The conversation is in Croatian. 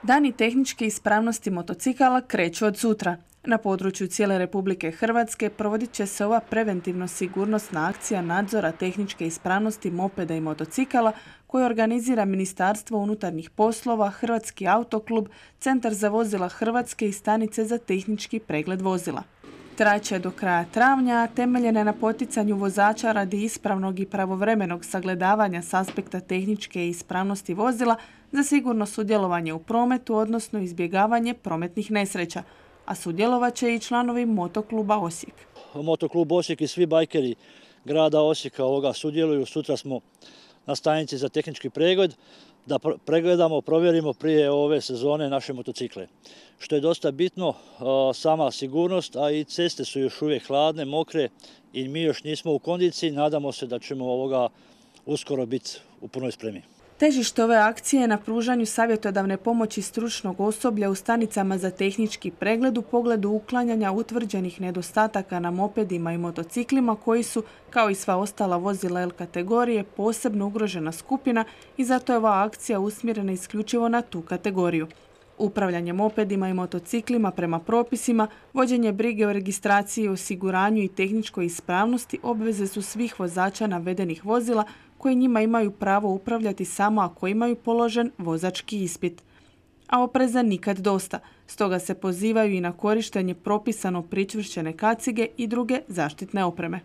Dani tehničke ispravnosti motocikala kreću od sutra. Na području cijele Republike Hrvatske provodit će se ova preventivno-sigurnosna akcija nadzora tehničke ispravnosti mopeda i motocikala koju organizira Ministarstvo unutarnjih poslova, Hrvatski autoklub, Centar za vozila Hrvatske i stanice za tehnički pregled vozila. Traće do kraja travnja, a temeljene na poticanju vozača radi ispravnog i pravovremenog sagledavanja s aspekta tehničke ispravnosti vozila za sigurno sudjelovanje u prometu, odnosno izbjegavanje prometnih nesreća, a sudjelovat će i članovi Motokluba Osijek. Motoklub Osijek i svi bajkeri grada Osijeka sudjeluju. Sutra smo na stanici za tehnički pregled da pregledamo, provjerimo prije ove sezone naše motocikle. Što je dosta bitno, sama sigurnost, a i ceste su još uvijek hladne, mokre i mi još nismo u kondiciji. Nadamo se da ćemo uskoro biti u punoj spremi. Težište ove akcije je na pružanju savjetodavne pomoći stručnog osoblja u stanicama za tehnički pregled u pogledu uklanjanja utvrđenih nedostataka na mopedima i motociklima koji su, kao i sva ostala vozila L kategorije, posebno ugrožena skupina i zato je ova akcija usmjerena isključivo na tu kategoriju. Upravljanje mopedima i motociklima prema propisima, vođenje brige o registraciji, osiguranju i tehničkoj ispravnosti obveze su svih vozača navedenih vozila koji njima imaju pravo upravljati samo ako imaju položen vozački ispit. A opreza nikad dosta, stoga se pozivaju i na korištenje propisano pričvršćene kacige i druge zaštitne opreme.